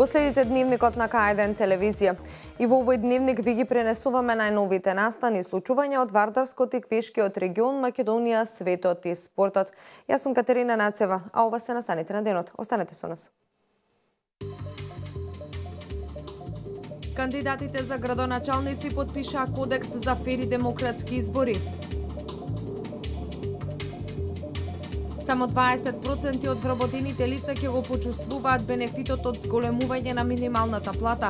Го следите дневникот на К1 телевизија. И во овој дневник ви ги пренесуваме најновите настани и случувања од Вардарскот и Квешкиот регион, Македонија, светот и спортот. Јас сум Катерина Нацева, а ова се настаните на денот. Останете со нас. Кандидатите за градоначалници потпишаа кодекс за фери демократски избори. Само 20% од вработените лица ќе го почувствуваат бенефитот од зголемување на минималната плата.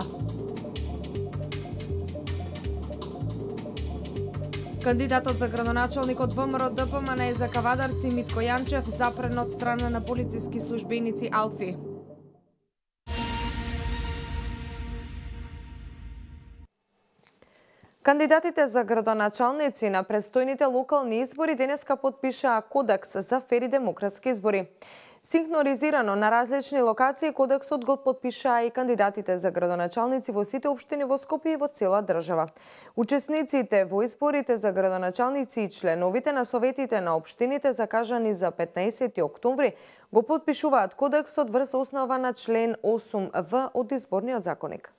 Кандидатот за градоначалник од ВМРО-ДПМН за Кавадарци Митко Јанчев запрен од страна на полициски службеници Алфи. Кандидатите за градоначалници на предстојните локални избори денеска потпишаа кодекс за фери демократски избори. Синхронизирано на различни локации кодексот го потпишаа и кандидатите за градоначалници во сите општини во Скопје и во цела држава. Учесниците во изборите за градоначалници и членовите на советите на општините закажани за 15 октомври го потпишуваат кодексот врз основа на член 8В од изборниот законник.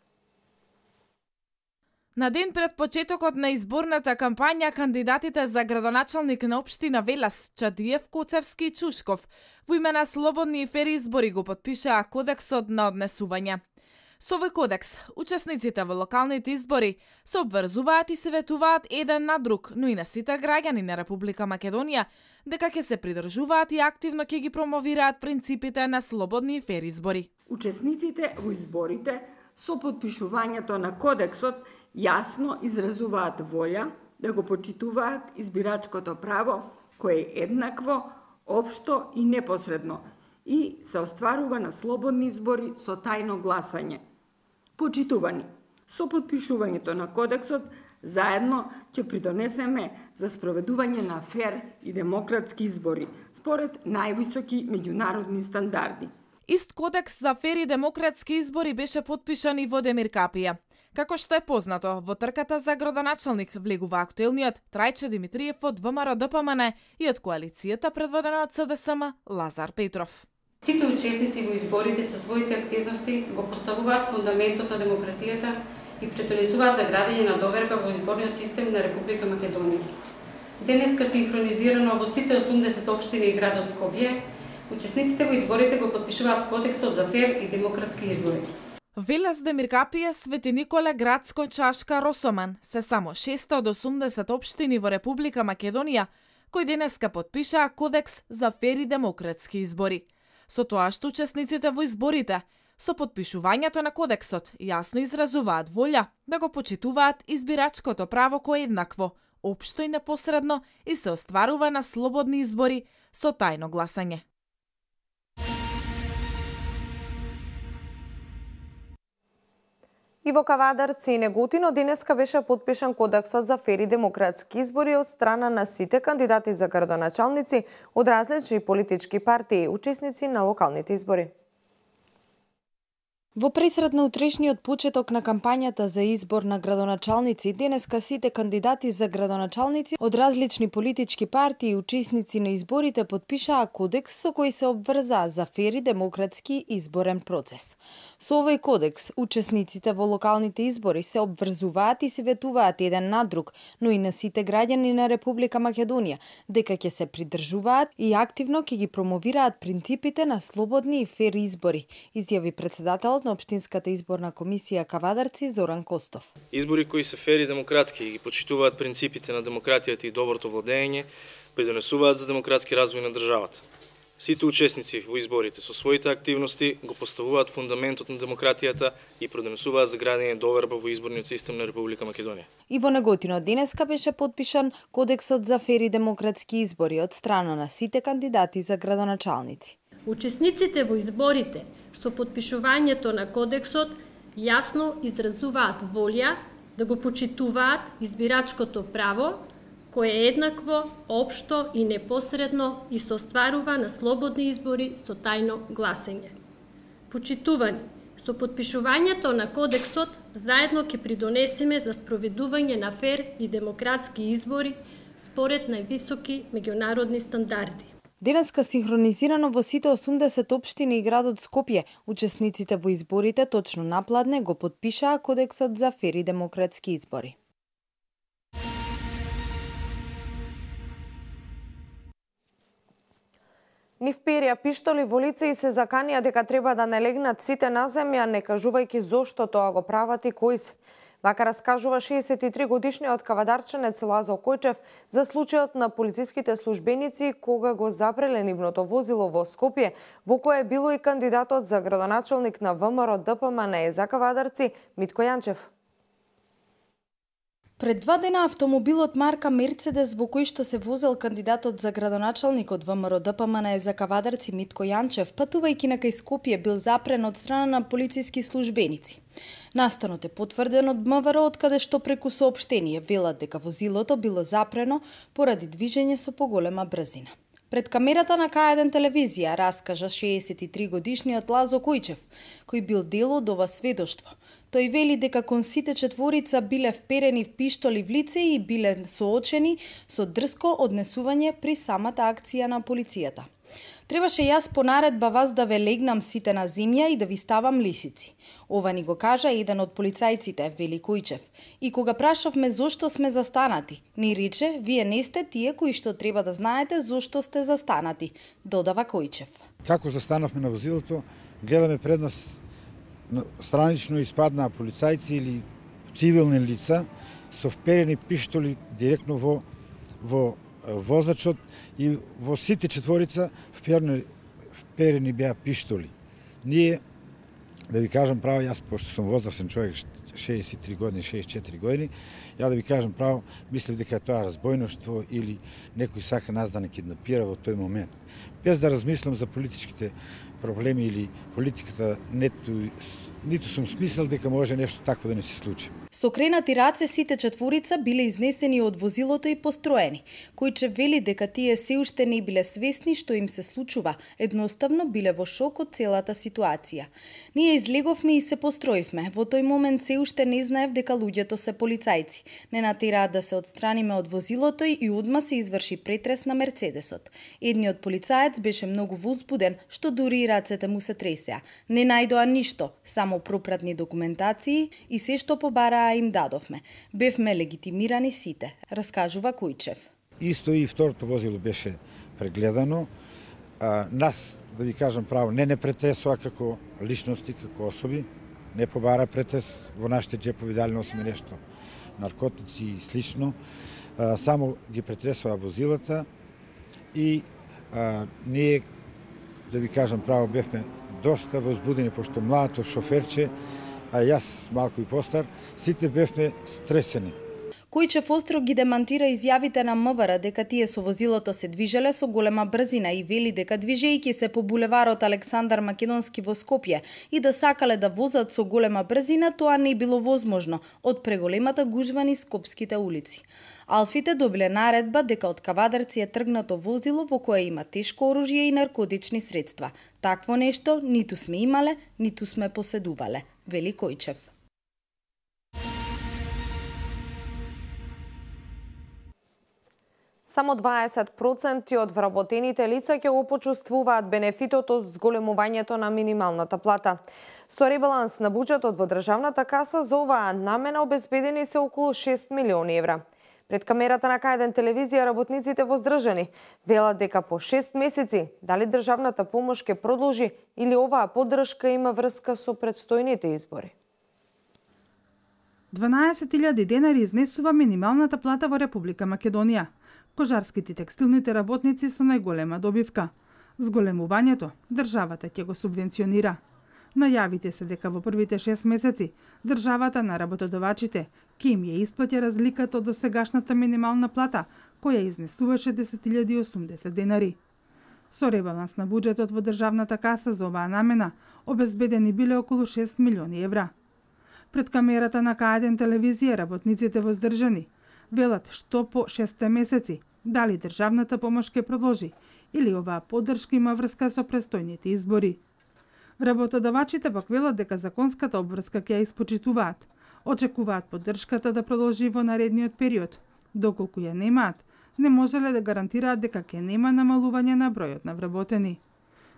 На ден пред почетокот на изборната кампања, кандидатите за градоначалник на општина Велес, Чадиев, Коцевски и Чушков во име на слободни и фери избори го потпишаа кодексот на однесување. Со овој кодекс, учесниците во локалните избори се обврзуваат и се ветуваат еден на друг, но и на сите граѓани на Република Македонија, дека ќе се придржуваат и активно ќе ги промовираат принципите на слободни и фери избори. Учесниците во изборите со потпишувањето на кодексот јасно изразуваат волја да го почитуваат избирачкото право, кое е еднакво, општо и непосредно и се остварува на слободни избори со тајно гласање. Почитувани, со потпишувањето на кодексот заедно ќе придонесеме за спроведување на фер и демократски избори според највисоки меѓународни стандарди. Ист кодекс за фери демократски избори беше потпишан и во Демир Капија. Како што е познато, во трката за градоначалник влегува актуелниот Трајчо Димитриев од ВМРО-ДПМН и од коалицијата предводена од СДСМ Лазар Петров. Сите учесници во изборите со своите активности го поставуваат фундаментот на демократијата и придонесуваат за градење на доверба во изборниот систем на Република Македонија. Денеска синхронизирано во сите 80 општини и градот Скопје, учесниците во изборите го потпишуваат кодексот за фер и демократски избори. Велес, Демир Капија, Свети Николе, Градско, Чашка, Росоман се само 6 од 80 општини во Република Македонија кои денеска потпишаа кодекс за фери демократски избори. Со тоа што учесниците во изборите со потпишувањето на кодексот јасно изразуваат волја да го почитуваат избирачкото право кое е еднакво, општо и непосредно и се остварува на слободни избори со тајно гласање. И во Кавадарци и Неготино денеска беше потпишан кодексот за фери демократски избори од страна на сите кандидати за градоначалници од различни политички партии, учесници на локалните избори. Во пресред на утрешниот почеток на кампањата за избор на градоначалници, денеска сите кандидати за градоначалници од различни политички партии и учесници на изборите потпишаа кодекс со кој се обврзаа за фери демократски изборен процес. Со овој кодекс, учесниците во локалните избори се обврзуваат и се ветуваат еден на друг, но и на сите граѓани на Република Македонија, дека ќе се придржуваат и активно ќе ги промовираат принципите на слободни и фер избори, изјави председателот на Општинската изборна комисија Кавадарци Зоран Костов. Избори кои се фери демократски и ги почитуваат принципите на демократијата и доброто владење, придонесуваат за демократски развој на државата. Сите учесници во изборите со своите активности го поставуваат фундаментот на демократијата и придонесуваат за градење доверба во изборниот систем на Република Македонија. И во Неготино денеска беше потпишан кодексот за фери демократски избори од страна на сите кандидати за градоначалници. Учесниците во изборите со потпишувањето на кодексот јасно изразуваат волја да го почитуваат избирачкото право, кое е еднакво, општо и непосредно и се остварува на слободни избори со тајно гласење. Почитувани, со подпишувањето на Кодексот заедно ќе придонесеме за спроведување на фер и демократски избори според највисоки меѓународни стандарди. Денеска синхронизирано во сите 80 општини и градот Скопје, учесниците во изборите точно напладне го потпишаа Кодексот за фер и демократски избори. Нив перја пиштоли во лице и се заканија дека треба да не легнат сите на земја, не кажувајќи зошто тоа го прават и кои се. Вака раскажува 63 годишниот кавадарченец Лазо Којчев за случајот на полициските службеници кога го запреле нивното возило во Скопје, во кое било и кандидатот за градоначалник на ВМРО ДПМН за Кавадарци Митко Јанчев. Пред 2 дена автомобилот марка Мерцедес во кој што се возел кандидатот за градоначалник од ВМРО ДПМН за Кавадарци Митко Јанчев, патувајќи на кај Скопје, бил запрен од страна на полициски службеници. Настанот е потврден од МВР, од каде што преку соопштение велат дека возилото било запрено поради движење со поголема брзина. Пред камерата на К1 телевизија раскажа 63 годишниот Лазо Којчев, кој бил дел од ова сведоштво. Тој вели дека кон сите четворица биле вперени в пиштоли в лице и биле соочени со дрско однесување при самата акција на полицијата. Требаше јас по наредба вас да ве легнам сите на земја и да ви ставам лисици. Ова ни го кажа еден од полицајците, вели Којчев. И кога прашавме зошто сме застанати, ни рече, вие не сте тие кои што треба да знаете зошто сте застанати, додава Којчев. Како застанавме на возилото, гледаме пред нас странично испаднаа полицајци или цивилни лица со вперени пиштоли директно во возачот и во сите четворица вперени беа пиштоли. Ние, да ви кажам право, јас пошто сум возрасен човек, 63 години, 64 години, ја да ви кажам право, мислев дека тоа разбојноштво или некој сака нас да не киднапира во тој момент. Без да размислам за политичките проблеми или политиката, ниту сум смислил дека може нешто такво да не се случи. Со кренати раце сите четворица биле изнесени од возилото и построени. Којчев вели дека тие се уште не биле свесни што им се случува, едноставно биле во шок од целата ситуација. Ние излеговме и се построивме. Во тој момент се уште не знаев дека луѓето се полицајци. Не натераат да се отстраниме од возилото и одма се изврши претрес на Мерцедесот. Едниот полицаец беше многу возбуден, што дури и рацете му се тресеа. Не најдоа ништо, само пропратни документации и се што побараа им дадовме. Бевме легитимирани сите, раскажува Којчев. Исто и второто возило беше прегледано. Нас, да ви кажам право, не претресува како личности, како особи. Не побара претрес во нашите джепови, дали носиме нешто, наркотици и слично. Само ги претресува возилата и ние, да ви кажам право, бевме доста возбудени, пошто младото шоферче, а јас малку и постар, сите бевме стресени. Којчев остро ги демантира изјавите на МВР дека тие со возилото се движеле со голема брзина и вели дека движејќи се по булеварот Александар Македонски во Скопје и да сакале да возат со голема брзина, тоа не било возможно од преголемата гужва низ скопските улици. Алфите добиле наредба дека од Кавадарци е тргнато возило во кое има тешко оружје и наркотични средства. Такво нешто ниту сме имале, ниту сме поседувале, вели Којчев. Само 20% од вработените лица ќе го почувствуваат бенефитот од зголемувањето на минималната плата. Со ребаланс на буџетот во државната каса за оваа намена обезбедени се околу 6 милиони евра. Пред камерата на К1 телевизија работниците воздржани велат дека по 6 месеци дали државната помош ќе продолжи или оваа поддршка има врска со предстојните избори. 12.000 денари изнесува минималната плата во Република Македонија. Кожарските и текстилните работници со најголема добивка. Зголемувањето државата ќе го субвенционира. Најавите се дека во првите 6 месеци државата на работодавачите ќе им ја исплати разликата од досегашната минимална плата, која изнесуваше 10.080 денари. Со ребаланс на буџетот во државната каса за оваа намена обезбедени биле околу 6 милиони евра. Пред камерата на К1 телевизија работниците воздржани велат што по 6 месеци дали државната помош ќе продолжи или оваа поддршка има врска со престојните избори. Работодавачите пак велат дека законската обврска ќе ја испочитуваат. Очекуваат поддршката да продолжи во наредниот период. Доколку ја немаат, не можеле да гарантираат дека ќе нема намалување на бројот на вработени.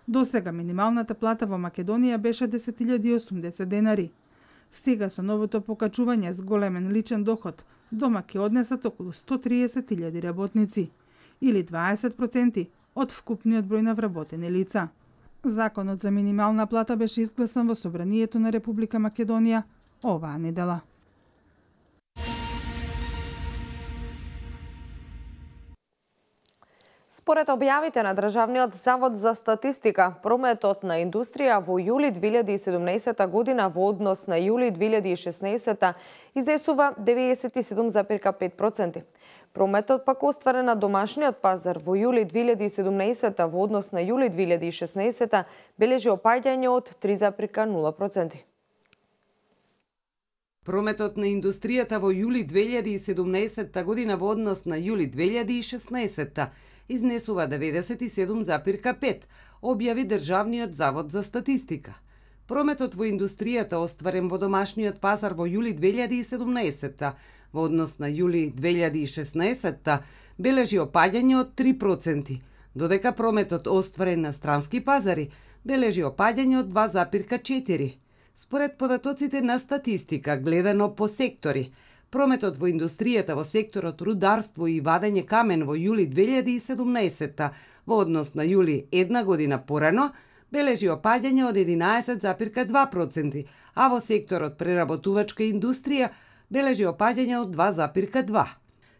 Досега минималната плата во Македонија беше 10.080 денари. Сега со новото покачување с големен личен доход, дома ќе однесат околу 130.000 работници, или 20% од вкупниот број на вработени лица. Законот за минимална плата беше изгласан во Собранието на Република Македонија оваа недела. Според објавите на Државниот завод за статистика, прометот на индустрија во јули 2017 година во однос на јули 2016 изнесува 97,5%. Прометот пак остварен на домашниот пазар во јули 2017 во однос на јули 2016 бележи опаѓање од 3,0%. Прометот на индустријата во јули 2017 година во однос на јули 2016 изнесува 97,5, објави Државниот завод за статистика. Прометот во индустријата остварен во домашниот пазар во јули 2017 во однос на јули 2016 бележи опаѓање од 3%, додека прометот остварен на странски пазари бележи опаѓање од 2,4%. Според податоците на статистика, гледано по сектори, прометот во индустријата во секторот рударство и вадење камен во јули 2017 во однос на јули една година порано бележи опаѓање од 11,2%, а во секторот преработувачка индустрија бележи опаѓање од 2,2%.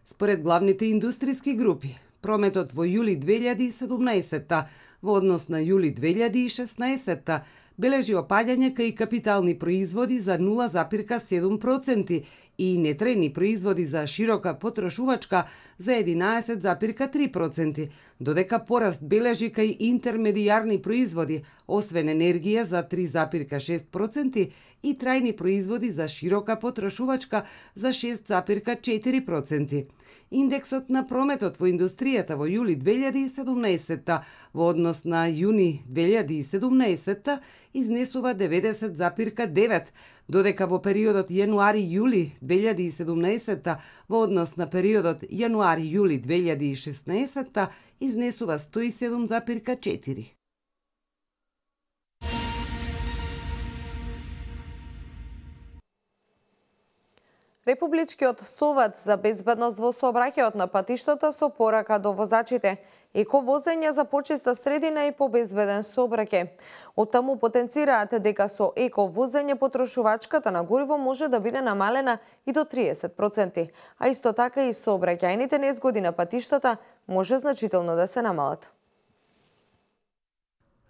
Според главните индустријски групи, прометот во јули 2017 во однос на јули 2016 бележи опаѓање кај капитални производи за 0,7% и нетрени производи за широка потрошувачка за 11,3%, додека пораст бележи кај интермедијарни производи, освен енергија за 3,6% и трајни производи за широка потрошувачка за 6,4%. Индексот на прометот во индустријата во јули 2017 во однос на јуни 2017 изнесува 90,9, додека во периодот јануари-јули 2017 во однос на периодот јануари-јули 2016 изнесува 107,4. Републичкиот совет за безбедност во сообраќајот на патиштата со порака до возачите еко возење за почиста средина и побезбеден сообраќај. Оттаму потенцираат дека со еко возење потрошувачката на гориво може да биде намалена и до 30%, а исто така и сообраќајните незгоди на патиштата може значително да се намалат.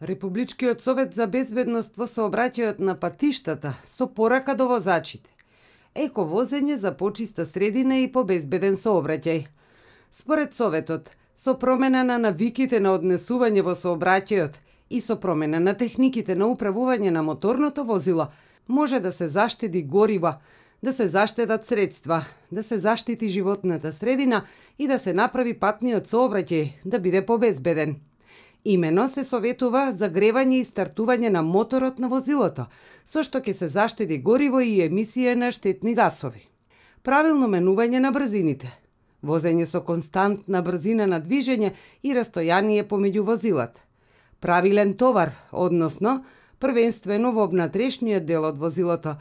Републичкиот совет за безбедност во сообраќајот на патиштата со порака до возачите еко возење за почиста средина и побезбеден сообраќај. Според Советот, со промена на навиките на однесување во сообраќајот и со промена на техниките на управување на моторното возило, може да се заштеди гориво, да се заштедат средства, да се заштити животната средина и да се направи патниот сообраќај да биде побезбеден. Имено се советува загревање и стартување на моторот на возилото, со што ќе се заштеди гориво и емисија на штетни гасови. Правилно менување на брзините, возење со константна брзина на движење и растојание помеѓу возилата. Правилен товар, односно, првенствено во внатрешниот дел од возилото.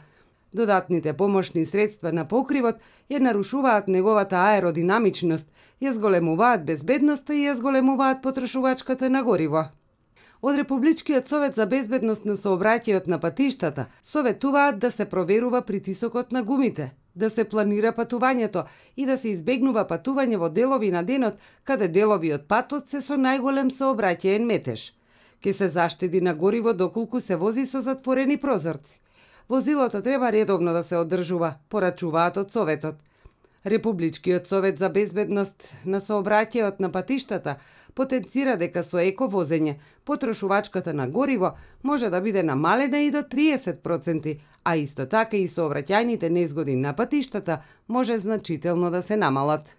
Додатните помошни средства на покривот ја нарушуваат неговата аеродинамичност, ја зголемуваат безбедноста и ја зголемуваат потрошувачката на гориво. Од Републичкиот совет за безбедност на сообраќајот на патиштата советуваат да се проверува притисокот на гумите, да се планира патувањето и да се избегнува патување во делови на денот каде делови од патот се со најголем сообраќаен метеж. Ке се заштеди на гориво доколку се вози со затворени прозорци. Возилото треба редовно да се одржува, порачуваат од Советот. Републичкиот совет за безбедност на сообраќајот на патиштата потенцира дека со ековозење потрошувачката на гориво може да биде намалена и до 30%, а исто така и сообраќајните незгоди на патиштата може значително да се намалат.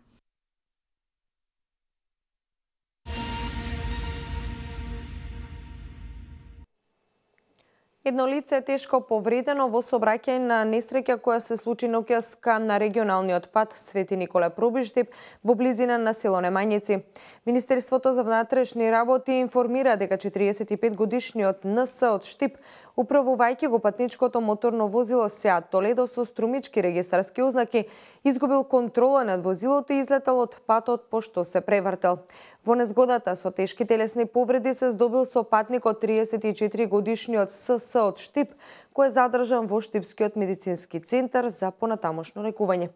Едно лице е тешко повредено во сообраќај на несреќа која се случи ноќаска на регионалниот пат Свети Николе Пробиштип во близина на село Немањици. Министерството за внатрешни работи информира дека 45 годишниот НС од Штип, управувајќи го патничкото моторно возило Сеат Толедо со струмички регистарски ознаки, изгубил контрола над возилото и излетал од патот пошто се превртел. Во незгодата со тешки телесни повреди се здобил со патникот 34 годишниот СС од Штип, кој е задржан во Штипскиот медицински центар за понатамошно лекување.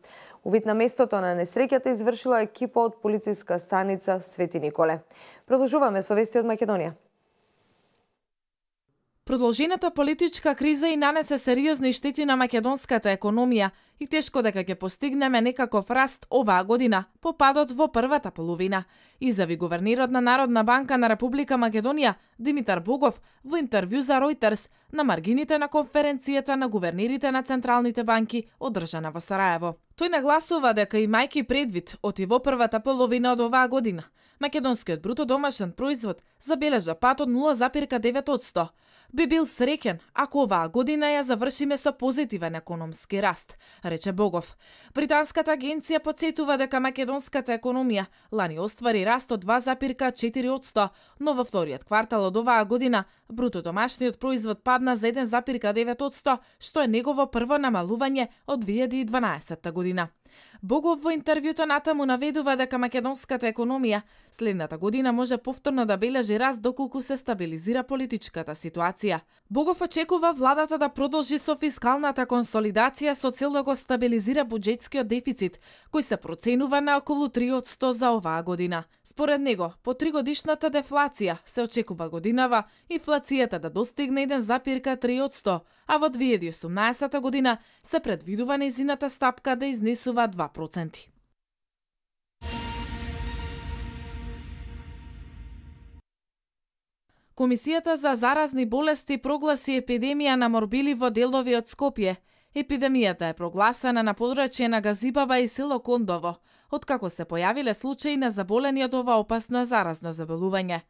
Увид на местото на несреќата извршила екипа од полициска станица Свети Николе. Продолжуваме со вести од Македонија. Продолжената политичка криза и нанесе сериозни штети на македонската економија и тешко дека ќе постигнеме некаков раст оваа година по падот во првата половина, изјави гувернерот на Народна банка на Република Македонија Димитар Богов во интервју за Ројтерс на маргините на конференцијата на гувернерите на централните банки одржана во Сараево. Тој нагласува дека имајќи предвид оти во првата половина од оваа година, македонскиот бруто домашен производ забележа пат од 0,9%. Би бил среќен ако оваа година ја завршиме со позитивен економски раст, рече Богов. Британската агенција потсетува дека македонската економија лани оствари раст од 2,4%, но во вториот квартал од оваа година бруто домашниот производ падна за 1,9%, што е негово прво намалување од 2012 година. Богов во интервјуто натаму наведува дека македонската економија следната година може повторно да бележи раст доколку се стабилизира политичката ситуација. Богов очекува владата да продолжи со фискалната консолидација со цел да го стабилизира буџетскиот дефицит, кој се проценува на околу 3% за оваа година. Според него, по 3-годишната дефлација се очекува годинава инфлацијата да достигне 1,3%, а во 2018 година се предвидува нејзината стапка да изнесува 2%. Комисијата за заразни болести прогласи епидемија на морбили во делови од Скопје. Епидемијата е прогласена на подрачје на Газибаба и село Кондово, откако се појавиле случаи на заболени од ова опасно заразно заболување.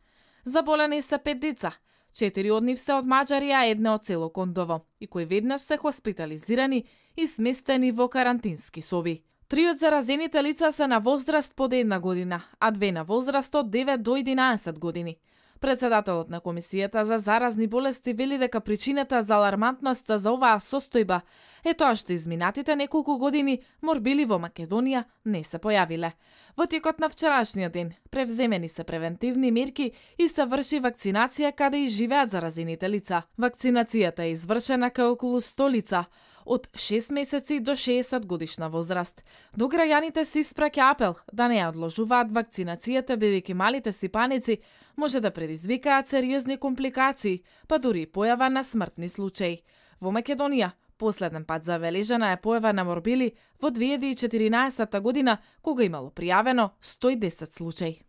Заболени се 5 деца, 4 од нив се од Маđарија, една од село Кондово, и кои веднаш се хоспитализирани и сместени во карантински соби. 3 од заразените лица се на возраст под 1 година, а 2 на возраст од 9 до 11 години. Председателот на Комисијата за заразни болести вели дека причината за алармантноста за оваа состојба е тоа што изминатите неколку години морбили во Македонија не се појавиле. Во текот на вчерашниот ден превземени се превентивни мерки и се врши вакцинација каде и живеат заразените лица. Вакцинацијата е извршена кај околу 100 лица од 6 месеци до 60 годишна возраст. До граѓаните се испраќа апел да не ја одложуваат вакцинацијата, бидејќи малите сипаници може да предизвикаат сериозни компликации, па дури и појава на смртни случаи. Во Македонија последен пат забележана е појава на морбили во 2014 година, кога имало пријавено 110 случаи.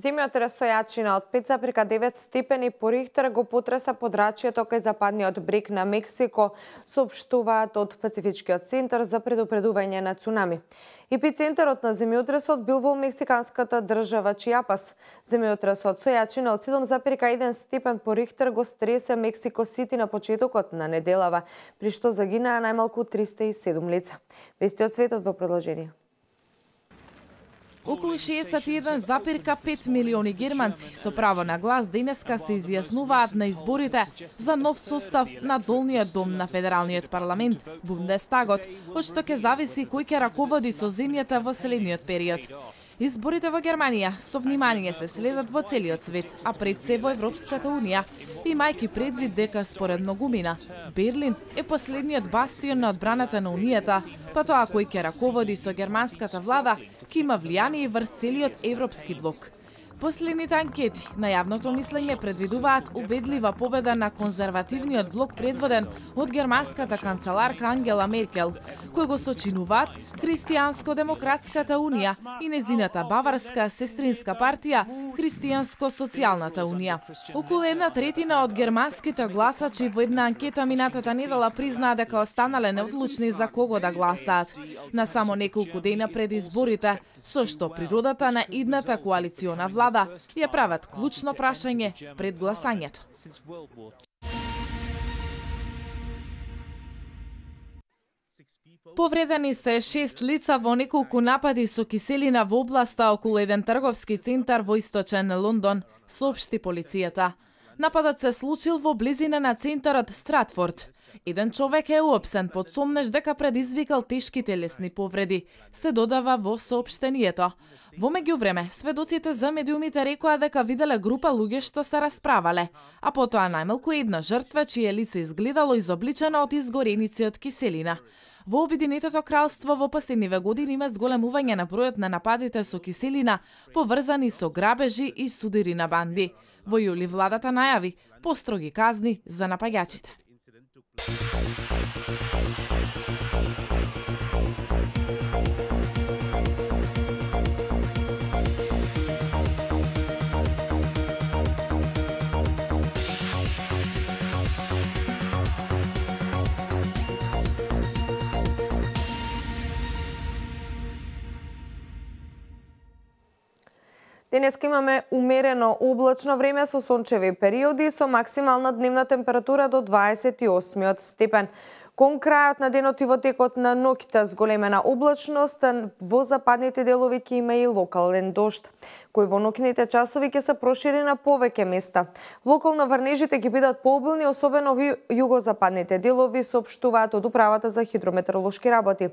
Земјотрес со јачина од 5,9 степени по Рихтер го потреса подрачјето кај западниот брег на Мексико, соопштуваат од Пацифичкиот центар за предупредување на цунами. Епицентарот на земјотресот бил во мексиканската држава Чиапас. Земјотресот со јачина од 7,1 степен по Рихтер го стресе Мексико Сити на почетокот на неделава, при што загинаа најмалку 307 лица. Вести од светот во продолжение. Околу 61,5 милиони германци со право на глас денеска се изјаснуваат на изборите за нов состав на долниот дом на Федералниот парламент, Бундестагот, од што ќе зависи кој ќе раководи со земјата во следниот период. Изборите во Германија со внимание се следат во целиот свет, а пред се во Европската унија, имајќи предвид дека според многумина Берлин е последниот бастион на одбраната на унијата, па тоа кој ќе раководи со германската влада ќе има влијание врз целиот европски блок. Последните анкети на јавното мислење предвидуваат убедлива победа на конзервативниот блок предводен од германската канцеларка Ангела Меркел, кој го сочинуваат Христијанско-демократската унија и незината баварска сестринска партија Христијанско-социјалната унија. Околу 1/3 од германските гласачи во една анкета минатата недела признаа дека останале неодлучни за кого да гласаат на само неколку дена пред изборите, со што природата на идната коалициона влада ја прават клучно прашање пред гласањето. Повредени се 6 лица во неколку напади со киселина во областа околу еден трговски центар во источен Лондон, соопшти полицијата. Нападот се случил во близина на центарот Стратфорд. Еден човек е уопсен под сомнеж дека предизвикал тешки телесни повреди, се додава во соопштението. Во меѓувреме, сведоците за медиумите рекоа дека виделе група луѓе што се расправале, а потоа најмалку една жртва чие лице изгледало изобличено од изгореници од киселина. Во Обединетото кралство во последниве години има зголемување на бројот на нападите со киселина, поврзани со грабежи и судири на банди. Во јули владата најави построги казни за напаѓачите. Денеска имаме умерено облачно време со сончеви периоди со максимална дневна температура до 28 степен. Кон крајот на денот и во текот на ноќта зголемена облачност, во западните делови ќе има и локален дожд, кој во ноќните часови ќе се прошири на повеќе места. Локално врнежите ќе бидат пообилни, особено во југозападните делови, соопштуваат од Управата за хидрометеоролошки работи.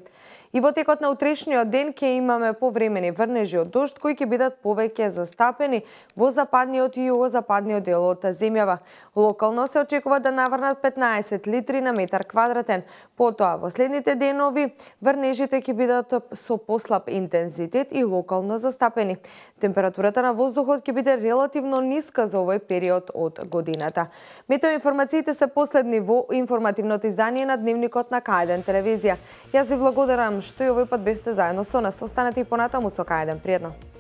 И во текот на утрешниот ден ќе имаме повремени врнежи од дожд кои ќе бидат повеќе застапени во западниот и југозападниот дел од земјава. Локално се очекува да наврнат 15 литри на метар квадратен. Потоа во следните денови врнежите ќе бидат со послаб интензитет и локално застапени. Температурата на воздухот ќе биде релативно ниска за овој период од годината. Метеоинформациите се последни во информативното издание на Дневникот на К1 телевизија. Јас ви благодарам што и овој пат бевте заедно со нас. Останете и понатаму со К1. Пријатно.